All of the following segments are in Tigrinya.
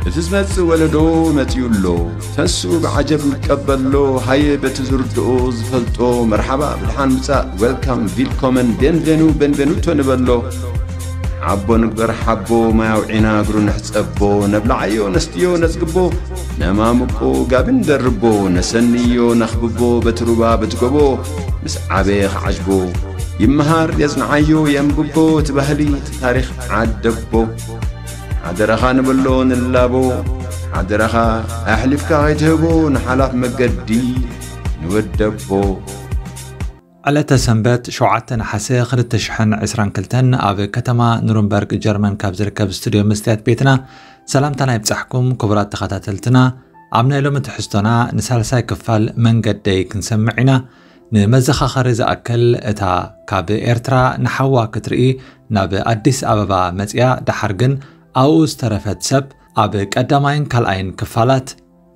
እቲ ዝመጽእ ወለዶ መጺኡ ኣሎ። ተስኡ ብዓጀብ ይቀበሎ። ሃየ በቲ ዝርድኦ ዝፈልጦ መርሓባ ብድሓን ምጻእ፣ ዌልካም፣ ቪልኮመን፣ ቤንቬኑ፣ ቤንቬኑቶ ንበሎ። ሓቦ ንግበር ሓቦ፣ ማይ ኣውዒና እግሩ ንሕጸቦ። ነብልዓዮ ነስትዮ ነጽግቦ፣ ነማምቆ ጋቢ ንደርቦ። ነሰንዮ ነኽብቦ በቲ ሩባ በቲ ጎቦ። ምስ ዓበየ ክዓጅቦ ይመሃር የጽንዓዮ የንብቦ። እቲ ባህሊ እቲ ታሪኽ ዓደቦ። ሓደራኻ ንበሎ ንላቦ። ሓደራኻ ኣሕሊፍካ ከይትህቦ ንሓላፍ መገዲ ንወደቦ። ዕለተ ሰንበት ሸውዓተ ነሓሰ ክልተ ሽሕን ዕስራን ክልተን ኣብ ከተማ ኑርንበርግ ጀርመን ካብ ዝርከብ ስቱድዮ መስትያት ቤትና ሰላምታና ይብጻሕኩም ክቡራት ተኸታተልትና። ኣብ ናይ ሎሚ ትሕዝቶና ንሳልሳይ ክፋል መንገደይ ክንሰምዕ ኢና። ንመዘኻኸሪ ዝኣክል እታ ካብ ኤርትራ ንሓዋ ክትርኢ ናብ ኣዲስ ኣበባ መጽያ ደሓር ግን ኣብኡ ዝተረፈት ሰብ ኣብ ቀዳማይን ካልኣይን ክፋላት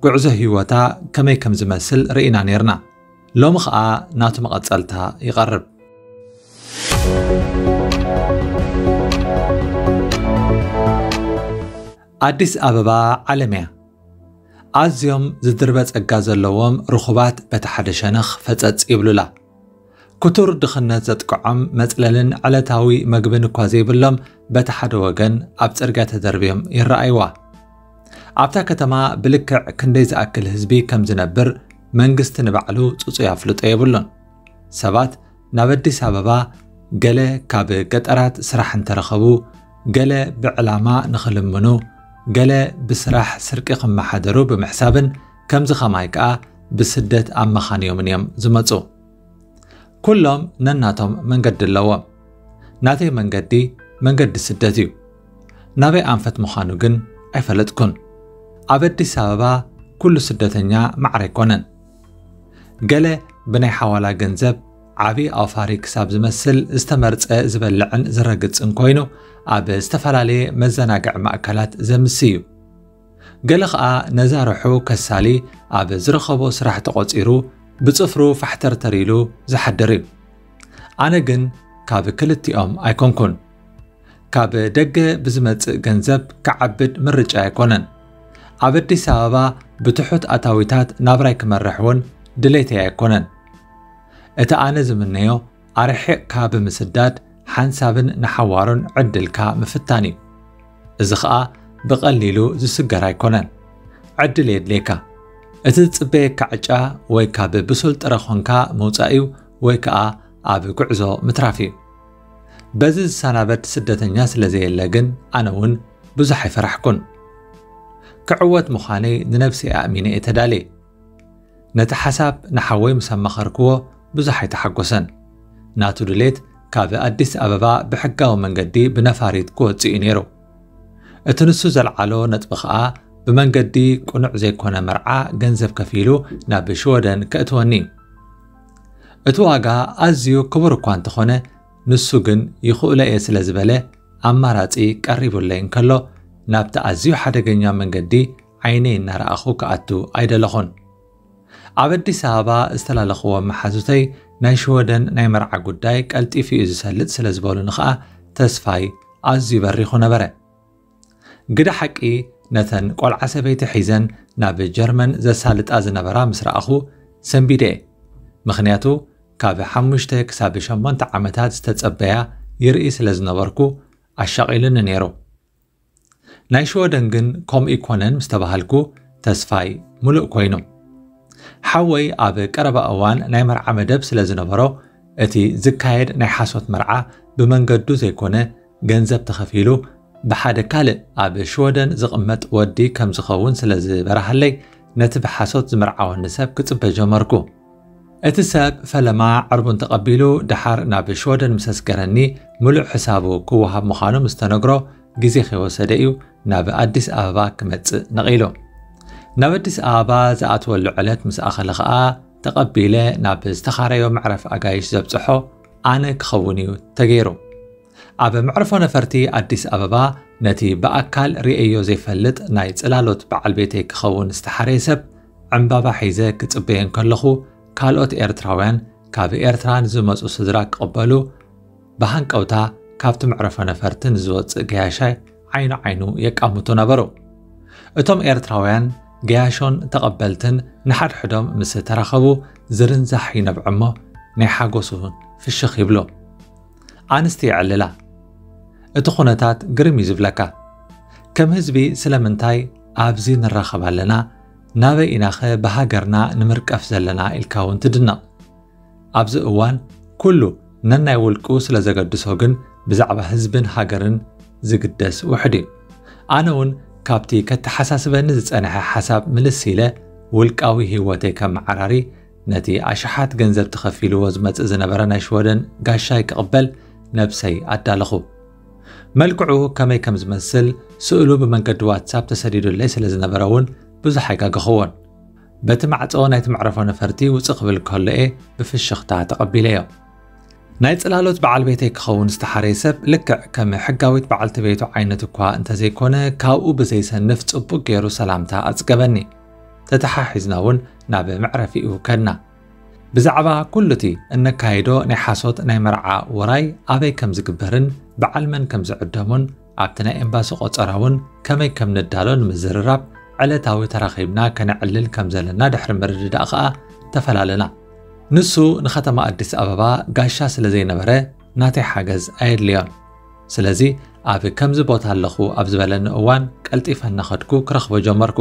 ጉዕዞ ህይወታ ከመይ ከም ዝመስል ርኢና ኔርና። ሎሚ ኸኣ ናቱ መቐጸልታ ይቐርብ። ኣዲስ ኣበባ ዓለም እያ። ኣዝዮም ዝድርበ ጸጋ ዘለዎም ርኹባት በቲ ሓደ ሸነኽ ፈጸጽ ይብሉላ። ክቱር ድኽነት ዘጥቅዖም መጽለልን ዕለታዊ መግብን እኳ ዘይብሎም በቲ ሓደ ወገን ኣብ ጽርግያ ተደርብዮም ይረኣይዋ። ኣብታ ከተማ ብልክዕ ክንደይ ዝኣክል ህዝቢ ከም ዝነብር መንግስቲ ንባዕሉ ጽጹይ ኣፍልጦ የብሉን። ሰባት ናብ ኣዲስ ኣበባ ገለ ካብ ገጠራት ስራሕ እንተረኸቡ፣ ገለ ብዕላማ ንኽልምኑ፣ ገለ ብስራሕ ስርቂ ክመሓደሩ ብምሕሳብን ከምዚ ኸማይ ከኣ ብስደት ኣብ መኻንዮምን እዮም ዝመጹ። ኩሎም ነናቶም መንገዲ ኣለዎም። ናተይ መንገዲ መንገዲ ስደት እዩ። ናበይ ኣንፈት ምዃኑ ግን ኣይፈለጥኩን። ኣብ ኣዲስ ኣበባ ኩሉ ስደተኛ ማዕረ ኣይኮነን። ገለ ብናይ ሓዋላ ገንዘብ ዓቢ ኣውፋሪ ክሳብ ዝመስል ዝተመርጸ ዝበልዕን ዝረግጽን ኮይኑ ኣብ ዝተፈላለየ መዘናግዒ ማእከላት ዘምሲ እዩ። ገለ ኸኣ ነዛ ርሑ ከሳሊ ኣብ ዝረኸቦ ስራሕ ተቖጺሩ ብጽፍሩ ፋሕተርተር ኢሉ ዝሓድር እዩ። ኣነ ግን ካብ ክልቲኦም ኣይኮንኩን። ካብ ደገ ብዝመጽእ ገንዘብ ክዓብድ ምርጫ ኣይኮነን። ኣብ ኣዲስ ኣበባ ብትሑት ኣታዊታት ናብራይ ክመርሕ እውን ድሌተይ ኣይኮነን። እቲ ኣነ ዝምነዮ ኣርሒቕካ ብምስዳድ ሓንሳብን ንሓዋሩን ዕድልካ ምፍታን እዩ። እዚ ኸኣ ብቐሊሉ ዝስገር ኣይኮነን። ዕድል የድልየካ። እቲ ዝጽበየካ ዕጫ ወይ ካብ ብሱል ጥረ ኾንካ ምውጻእ እዩ ወይ ከኣ ኣብ ጉዕዞ ምትራፍ እዩ። በዚ ዝሰናበድ ስደተኛ ስለ ዘየለ ግን ኣነ እውን ብዙሕ ኣይፈራሕኩን። ክዕወት ምዃነይ ንነብሰይ ኣእሚነ እየ ተዳልየ። ነቲ ሓሳብ ንሓወይ ምስ ኣማኸርክዎ ብዙሕ ኣይተሓጎሰን። ናቱ ድሌት ካብ ኣዲስ ኣበባ ብሕጋዊ መንገዲ ብነፋሪት ክወጽእ እዩ ነይሩ። እቲ ንሱ ዘልዓሎ ነጥቢ ኸኣ ብመንገዲ ቅኑዕ ዘይኮነ መርዓ ገንዘብ ከፊሉ ናብ ሽወደን ከእትወኒ እዩ። እቲ ዋጋ ኣዝዩ ክቡር እኳ እንተኾነ ንሱ ግን ይኽእሎ እየ ስለ ዝበለ ኣማራጺ ቀሪቡለይ እንከሎ ናብቲ ኣዝዩ ሓደገኛ መንገዲ ዓይነይ እናረኣኹ ክኣቱ ኣይደለኹን። ኣብ ኣዲስ ኣበባ ዝተላለኽዎም መሓዙተይ ናይ ሽወደን ናይ መርዓ ጉዳይ ቀልጢፉ እዩ ዝሰልጥ ስለ ዝበሉኒ ኸኣ ተስፋይ ኣዝዩ በሪኹ ነበረ። ግደ ሓቂ ነተን ቆልዓ ሰበይቲ ሒዘን ናብ ጀርመን ዘሳልጣ ዝነበራ ምስ ረኣኹ ሰንቢደ እየ። ምኽንያቱ ካብ ሓሙሽተ ክሳብ ሸሞንተ ዓመታት ዝተጸበያ ይርኢ ስለ ዝነበርኩ ኣሻቒሉኒ ነይሩ። ናይ ሽወደን ግን ከምኡ ይኮነን ምስ ተባሃልኩ ተስፋይ ሙሉእ ኮይኑ። ሓወይ ኣብ ቀረባ እዋን ናይ መርዓ መደብ ስለ ዝነበሮ እቲ ዝካየድ ናይ ሓሶት መርዓ ብመንገዱ ዘይኮነ ገንዘብ ተኸፊሉ ብሓደ ካልእ ኣብ ሽወደን ዝቕመጥ ወዲ ከም ዝኸውን ስለ ዝበርሃለይ ነቲ ብሓሶት ዝምርዓወኒ ሰብ ክጽበ ጀመርኩ። እቲ ሰብ ፈለማ ዕርቡን ተቐቢሉ ደሓር ናብ ሽወደን ምስ ኣስገረኒ ምሉእ ሕሳቡ ክወሃብ ምዃኑ ምስ ተነግሮ ግዜ ከይወሰደ እዩ ናብ ኣዲስ ኣበባ ክመጽእ ነቒሉ። ናብ ኣዲስ ኣበባ ዝኣትወሉ ዕለት ምስ ኣኸለ ኸኣ ተቐቢለ ናብ ዝተኻረዮ መዕረፊ ኣጋይሽ ዘብጽሖ ኣነ ክኸውን እዩ ተገይሩ። ኣብ መዕርፎ ነፈርቲ ኣዲስ ኣበባ ነቲ ብኣካል ርእየዮ ዘይፈልጥ ናይ ጽላሎት በዓል ቤተይ ክኸውን ዝተሓረየ ሰብ ዕምባባ ሒዘ ክጽበዮ እንከለኹ ካልኦት ኤርትራውያን ካብ ኤርትራ ንዝመጹ ስድራ ክቕበሉ ብሃንቀውታ ካብቲ መዕረፎ ነፈርቲ ንዝወጽእ ገያሻይ ዓይኑ ዓይኑ የቃምቱ ነበሩ። እቶም ኤርትራውያን ገያሾን ተቐበልትን ንሓድሕዶም ምስ ተራኸቡ ዝርንዛሕ ይነብዕ እሞ ናይ ሓጎስ እውን ፍሽኽ ይብሎ። ኣንስቲ ይዕልላ። እቲ ኩነታት ግርም እዩ ዝብለካ። ከም ህዝቢ ስለምንታይ ኣብዚ ንራኸብ ኣለና? ናበይ ኢናኸ ብሃገርና ንምርቀፍ ዘለና ኢልካ እውን ትድነቕ። ኣብዚ እዋን ኩሉ ነናይ ውልቁ ስለ ዘገድሶ ግን ብዛዕባ ህዝብን ሃገርን ዝግደስ ውሕድ እዩ። ኣነ እውን ካብቲ ከተሓሳስበኒ ዝጸንሐ ሓሳብ ምልስ ኢለ ውልቃዊ ህይወተይ ከመዓራሪ ነቲ ኣሽሓት ገንዘብ ተኸፊልዎ ዝመጽእ ዝነበረ ናይ ሽወደን ጋሻይ ክቕበል ነብሰይ ኣዳለኹ። መልክዑ ከመይ ከም ዝመስል ስእሉ ብመንገዲ ዋትሳፕ ተሰዲዱለይ ስለ ዝነበረ እውን ብዙሕ ኣይጋገኽዎን። በቲ ማዕጾ ናይቲ መዕረፎ ነፈርቲ ውጽእ ክብል ከሎ እየ ብፍሽኽታ ተቐቢለዮ። ናይ ጽላሎት በዓል ቤተይ ክኸውን ዝተሓረየ ሰብ ልክዕ ከም ሕጋዊት በዓልቲ ቤቱ ዓይነት እኳ እንተዘይኮነ ካብኡ ብዘይሰንፍ ጽቡቕ ገይሩ ሰላምታ ኣጽገበኒ። ተተሓሒዝና እውን ናብ መዕረፊኡ ከድና። ብዛዕባ ኩሉ እቲ እነካይዶ ናይ ሓሶት ናይ መርዓ ውራይ ኣበይ ከም ዝግበርን በዓል መን ከም ዝዕደሙን ኣብቲ ናይ ኤምባሲ ቆጸራ እውን ከመይ ከም ንዳሎ ንምዝርራብ ዕለታዊ ተራኺብና ከነዕልል ከም ዘለና ድሕሪ ምርድዳእ ከኣ ተፈላለና። ንሱ ንኸተማ ኣዲስ ኣበባ ጋሻ ስለ ዘይነበረ ናተይ ሓገዝ ኣየድልዮን። ስለዚ ኣብ ከምዚ ቦታ ኣለኹ ኣብ ዝበለኒ እዋን ቀልጢፈ እናኸድኩ ክረኽቦ ጀመርኩ።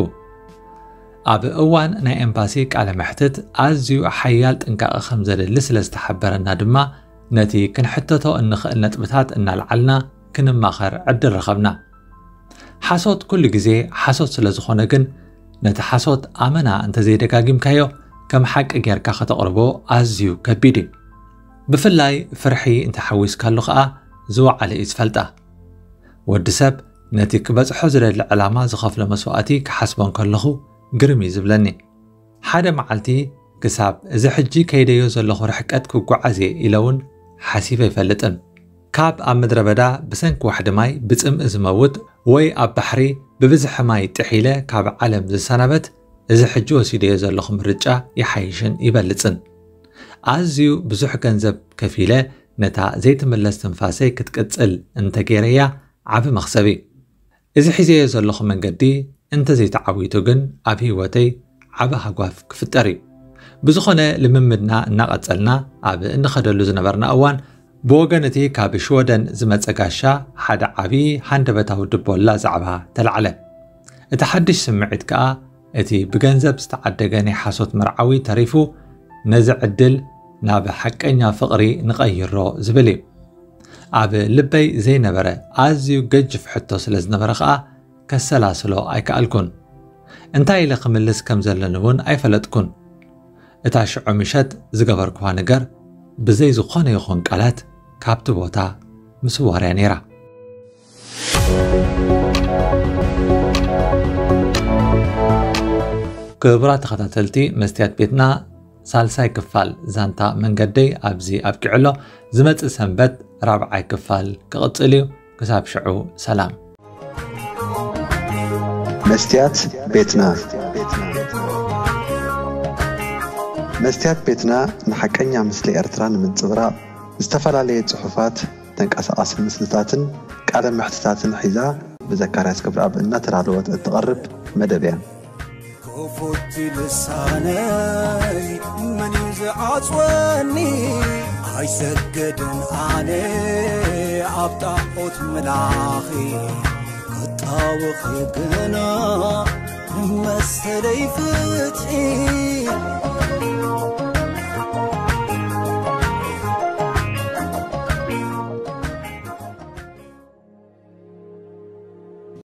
ኣብ እዋን ናይ ኤምባሲ ቃለ መሕትት ኣዝዩ ሓያል ጥንቃቐ ከም ዘድሊ ስለ ዝተሓበረና ድማ ነቲ ክንሕተቶ እንኽእል ነጥብታት እናልዓልና ክንማኸር ዕድል ረኸብና። ሓሶት ኩሉ ግዜ ሓሶት ስለ ዝኾነ ግን ነቲ ሓሶት ኣመና እንተዘይደጋጊምካዮ ከም ሓቂ ጌርካ ከተቕርቦ ኣዝዩ ከቢድ እዩ። ብፍላይ ፍርሒ እንተሓዊስካሉ ኸኣ ዝወዓለ እዩ ዝፈልጣ። ወዲ ሰብ ነቲ ክበጽሖ ዝደሊ ዕላማ ዝኸፍሎ መስዋእቲ ክሓስቦ እንከለኹ ግርም እዩ ዝብለኒ። ሓደ መዓልቲ ክሳብ እዚ ሕጂ ከይደዮ ዘለኹ ርሕቀት ክጓዓዝ እየ ኢለ እውን ሓሲበ ኣይፈልጥን። ካብ ኣብ ምድረ በዳ ብሰንኪ ዋሕዲ ማይ ብጽምኢ ዝመውት ወይ ኣብ ባሕሪ ብብዝሒ ማይ ጥሒለ ካብ ዓለም ዝሰናበት እዚ ሕጂ ወሲደዮ ዘለኹ ምርጫ ይሓይሽን ይበልጽን። ኣዝዩ ብዙሕ ገንዘብ ከፊለ ነታ ዘይትምለስ ትንፋሰይ ክትቅጽል እንተገይረያ ዓቢ መኽሰብ እዩ። እዚ ሒዘዮ ዘለኹ መንገዲ እንተዘይተዓዊቱ ግን ኣብ ህይወተይ ዓቢ ሃጓፍ ክፍጠር እዩ። ብዝኾነ ልምምድና እናቐጸልና ኣብ እንኸደሉ ዝነበርና እዋን ብወገን እቲ ካብ ሽወደን ዝመጸ ጋሻ ሓደ ዓቢ ሃንደበታዊ ድቦላ ዛዕባ ተላዕለ። እቲ ሓድሽ ስምዒት ከኣ እቲ ብገንዘብ ዝተዓደገ ናይ ሓሶት መርዓዊ ተሪፉ ነዚ ዕድል ናብ ሓቀኛ ፍቕሪ ንቐይሮ ዝብል እዩ። ኣብ ልበይ ዘይነበረ ኣዝዩ ገጅፍ ሕቶ ስለ ዝነበረ ከኣ ከሰላስሎ ኣይከኣልኩን። እንታይ ኢለ ክምልስ ከም ዘለኒ እውን ኣይፈለጥኩን። እታ ሽዑ ምሸት ዝገበርክዋ ነገር ብዘይ ዝኾነ ይኹን ቃላት ካብቲ ቦታ ምስዋር እያ ነይራ። ክቡራት ተኸታተልቲ መስትያት ቤትና ሳልሳይ ክፋል ዛንታ መንገደይ ኣብዚ ኣብቂዑ ኣሎ። ዝመጽእ ሰንበት ራብዓይ ክፋል ክቕጽል እዩ። ክሳብ ሽዑ ሰላም። መስትያት ቤትና። መስትያት ቤትና ንሓቀኛ ምስሊ ኤርትራ ንምንጽብራቕ ዝተፈላለየ ጽሑፋት፣ ተንቀሳቓሲ ምስልታትን ቃለ መሕትታትን ሒዛ ብዘካርያስ ክብረኣብ እናተዳለወት እትቐርብ መደብ እያ። ክፉት ልሳነይ መን እዩ ዝዓጽወኒ? ኣይሰግድን ኣነ ኣብ ጣዖት ምላኺ ክጣወኺ ግና ንመሰለይ ፍትሒ።